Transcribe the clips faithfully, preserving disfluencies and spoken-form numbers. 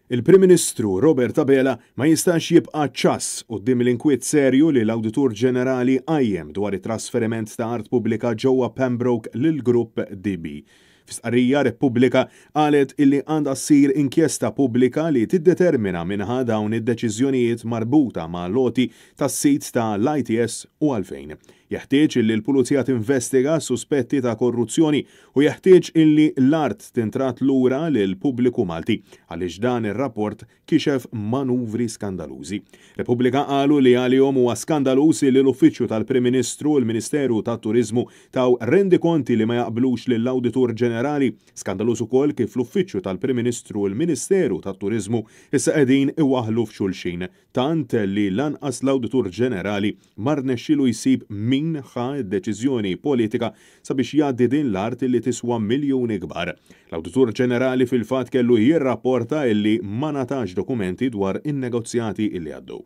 Il-Prim Ministru Robert Abela ma jistax jibqa' ċass quddiem l-inkwiet serju li l-Awditur Ġenerali qajjem dwar it-trasferiment ta' art pubblika ġewwa Pembroke lill-Grupp D B. Fi stqarrija, Repubblika qalet illi għandha ssir inkjesta pubblika li tiddetermina min ħa dawn id-deċiżjonijiet marbuta ma' l-għoti tas-sit ta' l-I T S u għalfejn. Jeħtieġ illi l-Pulizija tinvestiga suspetti ta' korruzzjoni u jeħtieġ illi l-art tintradd lura lil pubbliku Malti, għaliex dan ir-rapport kixef manuvri skandalużi. Repubblika qalu li għalihom huwa skandaluż li l-Uffiċċju tal-Prim Ministru u l-Ministeru tat-Turiżmu taw rendikonti li ma jaqblux lill-Awditur Ġenerali. Skandaluż ukoll kif l-Uffiċċju tal-Prim Ministru u l-Ministeru tat-Turiżmu issa qegħdin iwaħħlu f'xulxin, tant li lanqas l-Awditur Ġenerali ma rnexxielu jsib min ħa deċiżjoni politika sabiex jgħaddi din l-art li tiswa miljuni kbar. L-Awditur Ġenerali fil-fatt kellu jirrapporta illi ma ngħatax dokumenti dwar in-negozjati illi għaddu.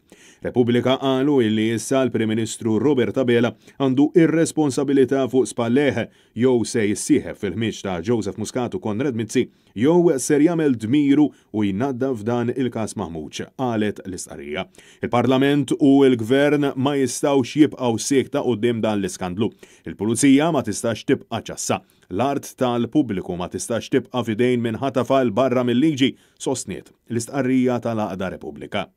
Repubblika qalu illi issa l-Prim Ministru Robert Abela għandu ir-responsabilità fuq spallejh: jew se jissieħeb fil-ħmieġ ta' Joseph Muscat u Konrad Mizzi, jew ser jagħmel dmiru u jnaddaf dan il-każ maħmuġ, qalet l-istqarrija. Il-Parlament u l-Gvern ma jistgħux jibqgħu siekta quddiem dan l-iskandlu. Il-Pulizija ma tistax tibqa' ċassa. L-art tal-pubbliku ma tistax tibqa' f'idejn min ħatafha 'l barra mill-liġi, sostniet l-istqarrija tal-Għaqda Repubblika.